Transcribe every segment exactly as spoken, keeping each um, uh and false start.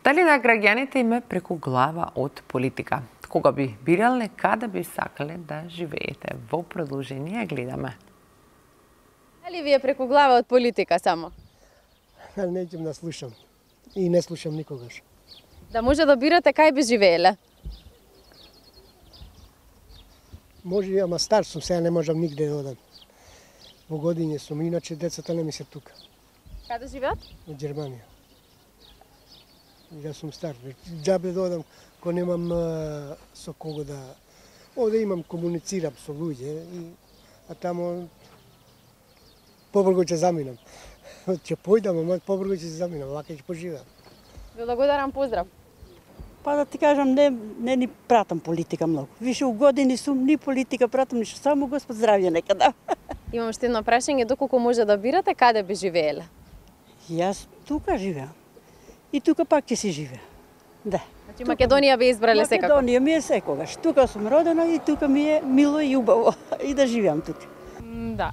Дали на граѓаните име преку глава од политика? Кога би бирале, каде би сакале да живеете? Во продолжение гледаме. Дали ви е преку глава од политика само? Неќем да слушам. И не слушам никогаш. Да може да бирате кај би живееле? Може, ама стар сум, сега не можам нигде да одам. Во години сум, иначе децата не ми се тука. Каде живеат? Во Германија. Ја сум стар. Џабе да одам, кога немам а, со кого да... Овде имам, комуницирам со луѓе, и, а тамо побрго ќе заминам. Ќе појдам, ама побрго ќе заминам, вака ќе поживеам. Ви благодарам, поздрав. Па да ти кажам, не, не ни пратам политика многу. Више у години сум, ни политика пратам, ништо, само Господ здравје нека да. Имам уште едно прашање, доколку може да бирате, каде би живееле? Јас тука живеам. И тука пак ќе си живеа. Да. Значи Македонија би избрале секако? Македонија ми е секогаш. Тука сум родена и тука ми е мило и убаво. И да живеам тука. Да.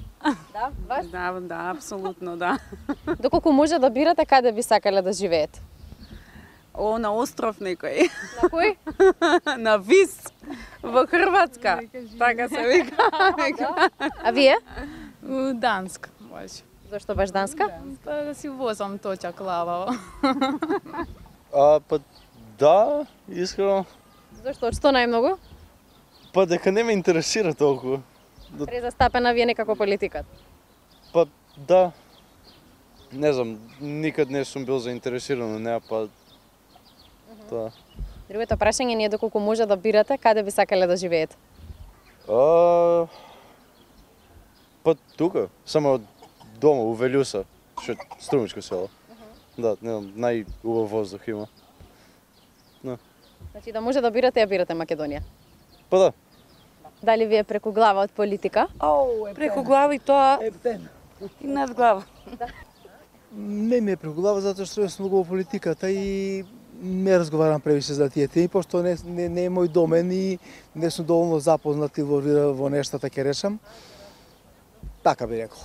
Да, вас? Да, да, апсолутно, да. Доколку може да бирате, каде би сакале да живеете? О, на остров некој. На кој? На Вис, во Хрватска. Така се вика. А вие? У Данска, баш. Зошто баш Данска? Па да си возам точак лава. А, па да, искрено. Зошто? Што најмногу? Па дека не ме интересира толку. Презастапена ви е некако политиката? Па да. Не знам, никад не сум бил заинтересиран на неа, па тоа. Другото прашање ни е доколку може да бирате, каде би сакале да живеете? А, па тука, само дома, у Велјуса, што е струмичко село. Да, не знам, најубав воздух има. Значи да може да бирате, ја бирате Македонија. Па да. Дали ви е преку глава од политика? Преку глава и тоа и над глава. Не ми е преку глава, затоа што сум многу во политиката и не разговарам превише за тие теми, пошто не, не, не е мој домен и не сум доволно запознат и во, во нештата, ќе решам. Така би рекол.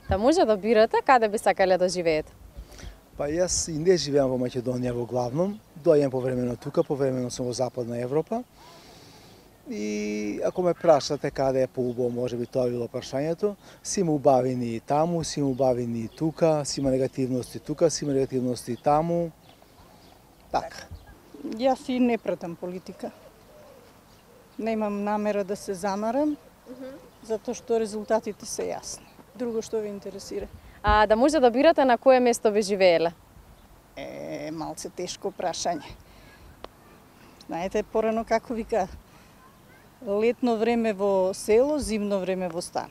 Да може да бирате, каде би сакале да живеете? Па јас и не живеам во Македонија во главном, доаѓам повремено тука, повремено сум во Западна Европа. И ако ме прашате каде е поубаво, може би тоа било прашањето, си има убавини и таму, си има убавини и тука, си има негативности тука, си има негативности и таму. Така. Јас и не пратам политика. Немам намера да се замарам, затоа што резултатите се јасни. Друго што ви интересира? А да може да бирате на кое место би живееле? Е, малце тешко прашање. Знаете, порано како вика, летно време во село, зимно време во стан.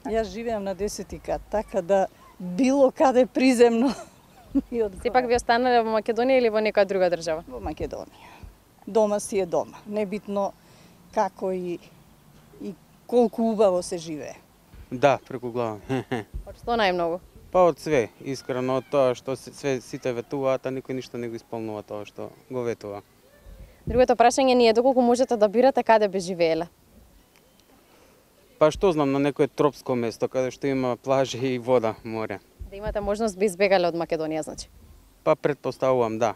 Јас живеам на десети кат, така да било каде приземно ми одговара. Сепак ви останале во Македонија или во некоја друга држава? Во Македонија. Дома си е дома. Небитно како и, и колку убаво се живее. Да, преку глава. Од што најмногу? Па од све, искрено, од тоа што све сите ветуваат, а никој ништо не го исполнува тоа што го ветува. Другото прашање ни е доколку можете да бирате каде би живееле? Па што знам, на некое тропско место, каде што има плажи и вода, море. Да имате можност би избегале од Македонија, значи? Па предпоставувам, да.